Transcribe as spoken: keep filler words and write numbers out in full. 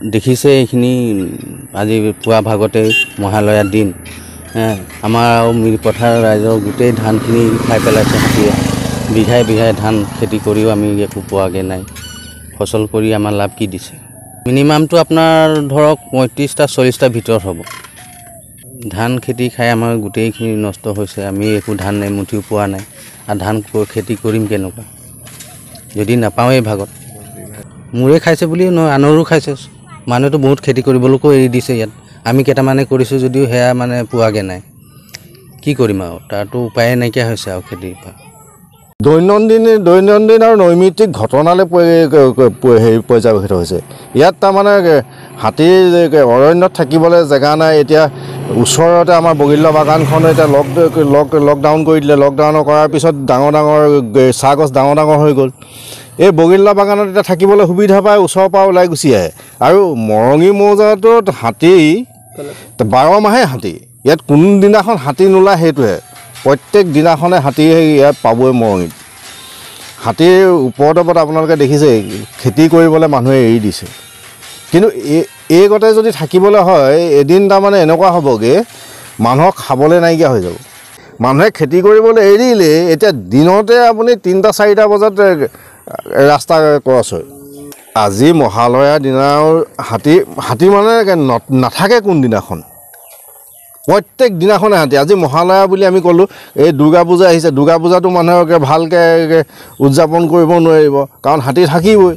দেখিছে এইখিনি আজি পুৱা ভাগতে মহালয়াৰ দিন, আমাৰ আৰু মিৰিপথাৰ ৰাইজৰ গোটেই ধানখিনি খাই পেলাইছে হাতীয়ে। বিঘাই বিঘাই ধান খেতি কৰিও আমি একো পোৱাগৈ নাই। ফচল কৰি আমাৰ লাভ কি দিছে? মিনিমামটো আপোনাৰ ধৰক পঁয়ত্ৰিছটা চল্লিছটাৰ ভিতৰত হ'ব। ধান খেতি খাই আমাৰ গোটেইখিনি নষ্ট হৈছে। আমি একো ধান এমুঠিও পোৱা নাই, আৰু ধান খেতি কৰিম কেনেকুৱা যদি নাপাওঁৱেই ভাগত। মোৰে খাইছে বুলিও নহয়, আনৰো খাইছে। মানুহেতো বহুত খেতি কৰিবলৈকো এৰি দিছে ইয়াত। আমি কেইটামানে কৰিছোঁ যদিও সেয়া মানে পোৱাগৈ নাই। কি কৰিম আৰু, তাৰতো উপায়ে নাইকিয়া হৈছে আৰু খেতিৰ পৰা। দৈনন্দিন দৈনন্দিন আৰু নৈমিত্তিক ঘটনালৈ হেৰি পৰ্যবেক্ষিত হৈছে। ইয়াত তাৰমানে হাতীৰ অৰণ্যত থাকিবলৈ জেগা নাই। এতিয়া ওচৰতে আমাৰ বগীতলা বাগানখন এতিয়া লক লক লকডাউন কৰি দিলে। লকডাউন কৰাৰ পিছত ডাঙৰ ডাঙৰ চাহ গছ ডাঙৰ ডাঙৰ হৈ গ'ল। এই বগীতলা বাগানত এতিয়া থাকিবলৈ সুবিধা পাই ওচৰৰ পৰা ওলাই গুচি আহে। আৰু মৰঙি মৌজাটোত হাতী বাৰ মাহে হাতী, ইয়াত কোনদিনাখন হাতী নোলায় সেইটোহে। প্ৰত্যেক দিনাখনে হাতী ইয়াত পাবই মৰঙিত। হাতীৰ উপদ্ৰৱত আপোনালোকে দেখিছে খেতি কৰিবলৈ মানুহে এৰি দিছে। কিন্তু এই এই গতে যদি থাকিবলৈ হয়, এদিন তাৰমানে এনেকুৱা হ'বগৈ মানুহক খাবলৈ নাইকিয়া হৈ যাব। মানুহে খেতি কৰিবলৈ এৰিলেই এতিয়া দিনতে আপুনি তিনিটা চাৰিটা বজাত ৰাস্তা ক্ৰছ হয়। আজি মহালয়াৰ দিনাও হাতী হাতী মানে নাথাকে কোনদিনাখন, প্ৰত্যেক দিনাখনে হাতী। আজি মহালয়া বুলি আমি ক'লোঁ, এই দুৰ্গা পূজা আহিছে, দুৰ্গা পূজাটো মানুহে ভালকৈ উদযাপন কৰিব নোৱাৰিব, কাৰণ হাতী থাকিবই।